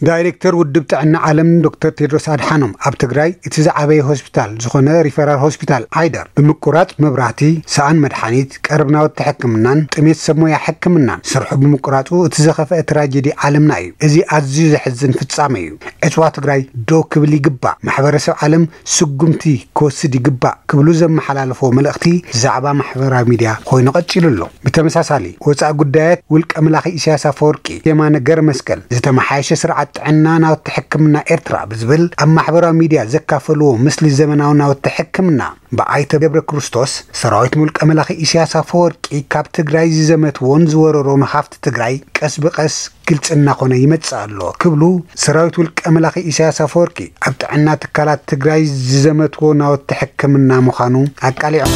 ዳይሬክተር ውድብ ጥዕና ዓለም ዶክተር ቴድሮስ ኣድሓኖም፣ ኣብ ትግራይ እቲ ዝዓበየ ሆስፒታል ዝኾነ ሪፈራል ሆስፒታል ዓይደር ብምቁራጽ መብራህቲ፣ ሰኣን መድሓኒት፣ ቀረብ ናውቲ ሕክምናን ጥሜት ሰብ ሞያ ሕክምናን ስርሑ ብምቁራጹ እቲ ዝኸፍአ ትራጀዲ ዓለምና እዩ። እዚ ኣዝዩ ዘሕዝን ፍጻመ እዩ። ዕጽዋ ትግራይ ደው ክብል ይግባእ። ማሕበረሰብ ዓለም ስጉምቲ ክወስድ ይግባእ ክብሉ ዘመሓላለፍዎ መልእኽቲ ዛዕባ ማሕበራዊ ሚድያ ኮይኑ ቀጺሉ ኣሎ። ብተመሳሳሊ፣ ወጻኢ ጉዳያት ውልቀ መላኺ ኢሳያስ ኣፈወርቂ የማነ ገረ መስቀል፣ ዝተመሓየሸ ስርዓት ጥዕና ናውቲ ሕክምና ኤርትራ ብዝብል ኣብ ማሕበራዊ ሚድያ ዘካፈልዎ ምስሊ ዘመናዊ ናውቲ ሕክምና ብኣይተ ገብረ ክርስቶስ፣ ሰራዊት ውልቀ መላኺ ኢሳያስ ኣፈወርቂ ካብ ትግራይ ዝዘመትዎን ዝወረሮን ሃፍቲ ትግራይ ቀስ ብቀስ ግልጺ እናኾነ ይመጽእ ኣሎ ክብሉ፣ ሰራዊት ውልቀ መላኺ ኢሳያስ ኣፈወርቂ ኣብ ጥዕና ትካላት ትግራይ ዝዘመትዎ ናውቲ ሕክምና ምዃኑ ኣቃሊዖም።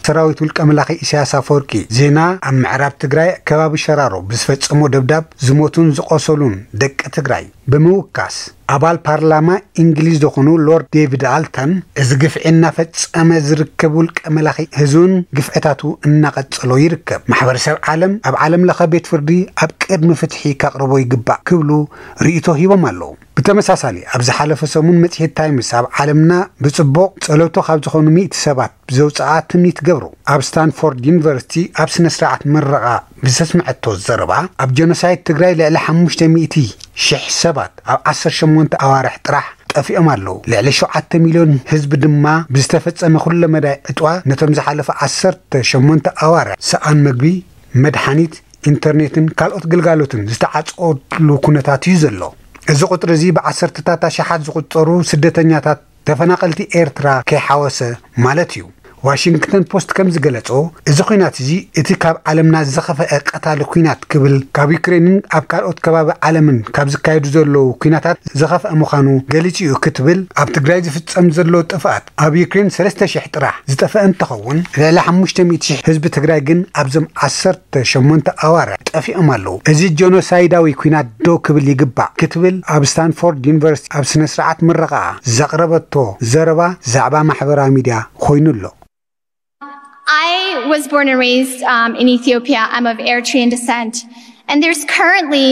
ሰራዊት ውልቀ መላኺ ኢሳያስ ኣፈወርቂ ዜና ኣብ ምዕራብ ትግራይ ከባቢ ሸራሮ ብዝፈጸሞ ደብዳብ ዝሞቱን ዝቆሰሉን ደቂ ትግራይ ብምውካስ፣ ኣባል ፓርላማ እንግሊዝ ዝኾኑ ሎርድ ዴቪድ ኣልተን፣ እዚ ግፍዒ እናፈጸመ ዝርከብ ውልቀ መላኺ ህዝብን ግፍዕታቱ እናቐጸሎ ይርከብ። ማሕበረሰብ ዓለም ኣብ ዓለም ለኸ ቤት ፍርዲ ኣብ ቅድሚ ፍትሒ ከቕርቦ ይግባእ ክብሉ ርእይቶ ሂቦም ኣለዉ። ብተመሳሳሊ፣ ኣብ ዝሓለፈ ሰሙን መጽሔት ታይምስ ኣብ ዓለምና ብጽቡቕ ጸለውቶ ካብ ዝኾኑ ሚእቲ ሰባት ብዘውጽኣ ትምኒት ገብሩ፣ ኣብ ስታንፎርድ ዩኒቨርሲቲ ኣብ ስነ ስርዓት ምረቓ ብዘስምዐቶ ዘረባ፣ ኣብ ጀኖሳይድ ትግራይ ልዕሊ ሓሙሽተ ሚእቲ ሽሕ ሰባት ኣብ ዓሰርተ ሸሞንተ ኣዋርሕ ጥራሕ ጠፊኦም ኣለዉ። ልዕሊ ሸውዓተ ሚልዮን ህዝቢ ድማ ብዝተፈጸመ ኩለ መዳይ ዕጥዋ ነቶም ዝሓለፈ ዓሰርተ ሸሞንተ ኣዋርሕ ሰኣን መግቢ፣ መድሓኒት፣ ኢንተርኔትን ካልኦት ግልጋሎትን ዝተዓጸወሉ ኩነታት እዩ ዘሎ። እዚ ቁጽሪ እዚ ብዓሰርተታት ኣሽሓት ዝቑጸሩ ስደተኛታት፣ ተፈናቐልቲ ኤርትራ ከይሓወሰ ማለት እዩ። ዋሽንግተን ፖስት ከም ዝገለጾ፣ እዚ ኲናት እዚ እቲ ካብ ዓለምና ዝኸፍአ ቀታሊ ኲናት ክብል፣ ካብ ዩክሬንን ኣብ ካልኦት ከባቢ ዓለምን ካብ ዝካየዱ ዘለዉ ኲናታት ዝኸፍአ ምዃኑ ገሊጹ እዩ ክትብል፣ ኣብ ትግራይ ዝፍጸም ዘሎ ጥፍኣት ኣብ ዩክሬን ሰለስተ ሽሕ ጥራሕ ዝጠፍአ እንትኸውን፣ ልዕሊ ሓሙሽተ ሚእቲ ሽሕ ህዝቢ ትግራይ ግን ኣብዞም ዓሰርተ ሸሞንተ ኣዋርሕ ጠፊኦም ኣለዉ። እዚ ጀኖሳይዳዊ ኲናት ደው ክብል ይግባእ ክትብል ኣብ ስታንፎርድ ዩኒቨርሲቲ ኣብ ስነ ስርዓት ምረቓ ዘቕረበቶ ዘረባ ዛዕባ ማሕበራዊ ሚድያ ኮይኑ ኣሎ። I was born and raised um, in Ethiopia. I'm of Eritrean descent. And there's currently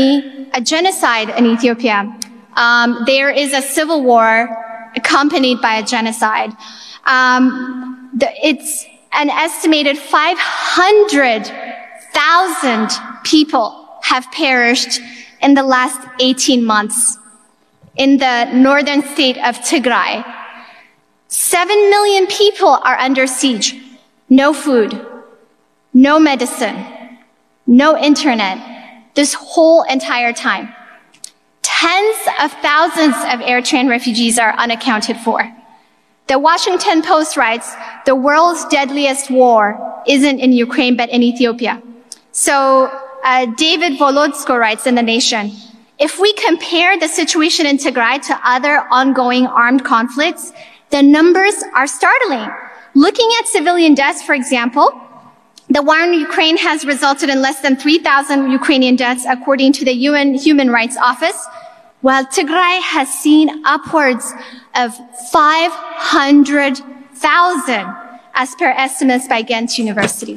a genocide in Ethiopia. Um, there is a civil war accompanied by a genocide. Um, the, it's an estimated five hundred thousand people have perished in the last eighteen months in the northern state of Tigray. Seven million people are under siege. No food, no medicine, no internet, this whole entire time. Tens of thousands of Eritrean refugees are unaccounted for. The Washington Post writes, "The world's deadliest war isn't in Ukraine but in Ethiopia." So uh, David Volodsko writes in The Nation, "If we compare the situation in Tigray to other ongoing armed conflicts, the numbers are startling. Looking at civilian deaths, for example, the war in Ukraine has resulted in less than three thousand Ukrainian deaths, according to the U N Human Rights Office, while Tigray has seen upwards of five hundred thousand, as per estimates by Ghent University."